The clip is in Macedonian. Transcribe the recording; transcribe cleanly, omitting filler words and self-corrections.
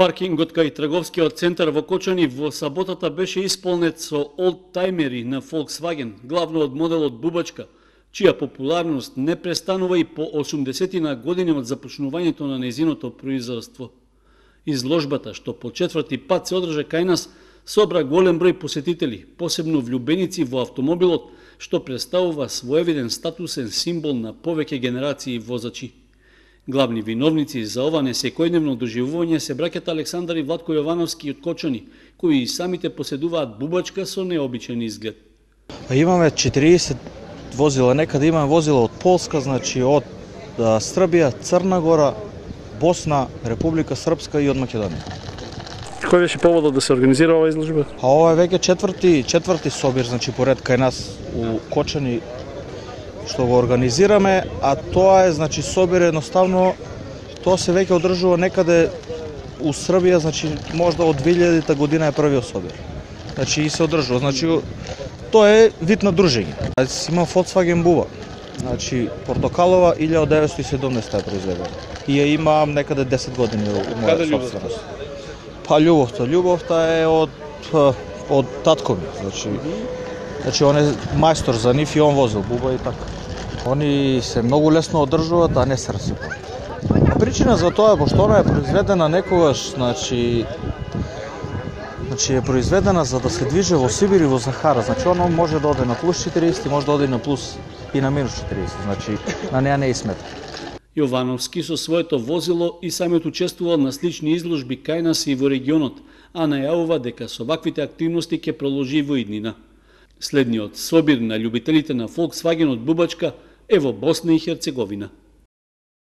Паркингот кај трговскиот центар во Кочани во саботата беше исполнет со олдтаймери на Volkswagen, главно од моделот Бубачка, чија популарност не престанува и по 80 години од започнувањето на нејзиното производство. Изложбата, што по четврти пат се одржа кај нас, собра голем број посетители, посебно влюбеници во автомобилот, што представува своевиден статусен символ на повеќе генерации возачи. Главни виновници за ова несекојдневно доживување се браќата Александар и Владко Јовановски од Кочани, кои и самите поседуваат Бубачка со необичен изглед. Имаме 40 возила, некаде имаме возила од Полска, значи од Србија, Црна Гора, Босна, Република Српска и од Македонија. Кој беше поводот да се организира ова изложба? Ова е веќе четврти собир, значи поред кај нас у Кочани што го организираме, а тоа е, значи, собир едноставно, тоа се веќе одржува некаде у Србија, значи, можда од 2000 година е првиот собир. Значи, и се одржува, значи, тоа е вид на дружење. Имам Volkswagen Буба, значи, портокалова, 1917 е произведена. И ја имам некаде 10 години у моја собственост. Па љубовта е од татко ми, значи он е мајстор за нив и он возил Буба и така. Они се многу лесно одржуваат, а не се расипаат. Причина за тоа е пошто она е произведена некогаш, значи е произведена за да се движи во Сибир и во Сахара. Значи оно може да оде на плюс 40, може да оде на плюс и на минус 40. Значи на неа не е смета. Јовановски со своето возило и самиот учествувал на слични изложби кај нас и во регионот, а најавува дека со ваквите активности ќе продолжи во иднина. Следниот собир на љубителите на Volkswagen од Бубачка е во Босна и Херцеговина.